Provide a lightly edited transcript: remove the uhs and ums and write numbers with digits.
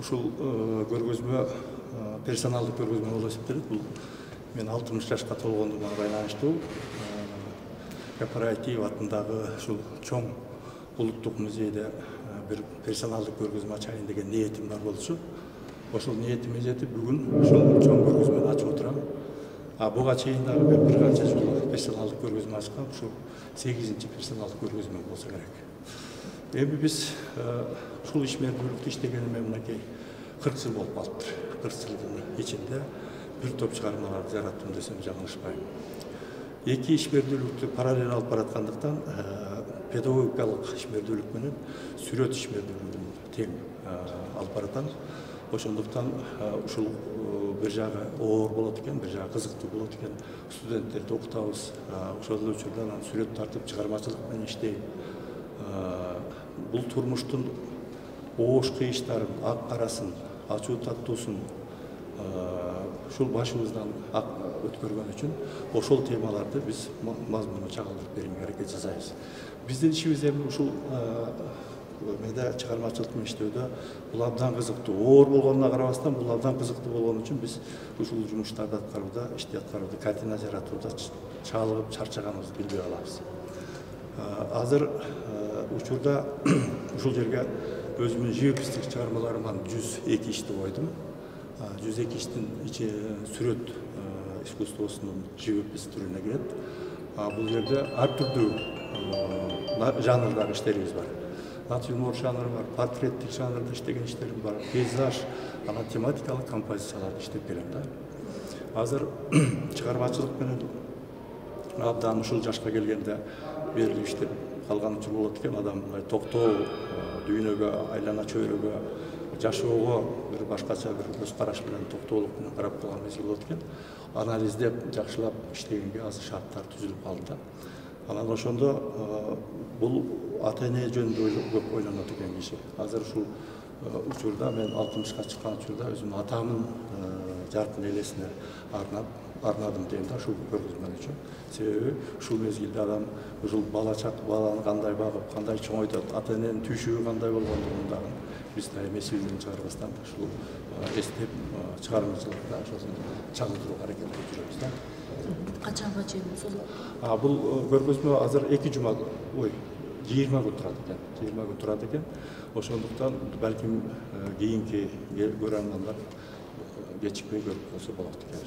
ушул көргөзмө персоналдык көргөзмө болуп эсептелет. Бул мен 60 жашка толгондугуна байланыштуу корпоратив атындагы ушул чоң улуттук музейде бир персоналдык көргөзмө ачайын деген ниетим бар болчу. Ошол ниетиме жетип бүгүн ушул чоң көргөзмөнү ачып отурам. Буга чейин дагы бир канча жыл персоналдык көргөзмө ачкам. Ушул 8-чи персоналдык көргөзмө болсо керек. Эми биз ушул ишмердүүлүктү иштегениме мынакей 40 жыл болуп калыптыр. 40 жылдын ичинде бир топ чыгармаларды жараттым десем жаңылышпайм. Эки ишмердүүлүктү параллель алып бараткандыктан педагогикалык ишмердүүлүк менен сүрөт ишмердүүлүгүн тең алып баратам. Ошондуктан ушул бир жагы оор болот экен, бир жагы кызыктуу болот экен. Студенттерди окутабыз, ошол эле учурда сүрөт тартып чыгармачылык менен иштейм. Бул турмуштун оош кыйыштарын, ак карасын, ачуу таттуусун ушул башыбыздан өткөргөн үчүн ошол темаларды биз мазмуну чагылдырып берүүгө аракет жасайбыз. Биздин ишибиз эми ушул медиа чыгармачылык менен иштөөдө бул абдан кызыктуу. Оор болгонуна карабастан бул абдан кызыктуу болгон үчүн биз ушул жумуштарды аткарууда, ишти аткарууда, картина жаратууда чалыгып чарчаганыбызды билбей калабыз. Азыр учурда ушул жерге өзүмдүн живописдик чыгармаларымдан 102 ишти койдум. 102 иштин сүрөт искусствосунун живопис түрүнө кирет. Бул жерде ар түрдүү жанрдагы иштерибиз бар. Натюрморт жанры бар, портреттик жанрда иштеген иштерим бар, пейзаж, анан тематикалык композицияларды иштеп берем да. Азыр чыгармачылык менен абдан ушул жашка келгенде берилип иштеп калган учур болот экен. Адам токтоо, дүйнөгө, айлана чөйрөгө, жашоого бир башкача бир көз караш менен токтоолук менен карап калган мезгил болот экен. Анализдеп, жакшылап иштегенге азыр шарттар түзүлүп калды да. Анан ошондо бул ата-эне жөнүндө көп ойлонот экен киши. Азыр ушул учурда мен 60ка чыккан учурда өзүмдүн атамдын жаркын элесине арнадым дейм да ушул көргөзмө үчүн. Себеби ушул мезгилде адам ушул баланы кандай багып, кандай чоңойтот, ата-эненин түйшүгү кандай болгондугун дагы биз да эми эсибизден чыгарбастан ушул эстеп чыгармачылыкта ошону чагылдырууга аракет кылып жүрөбүз да. Качанга чейин созулат? Бул көргөзмө азыр 2 жума, 20 күн турат экен. 20 күн турат экен. Ошондуктан балким кийинки көрөрмандар кечикпей көрүп калса болот экен.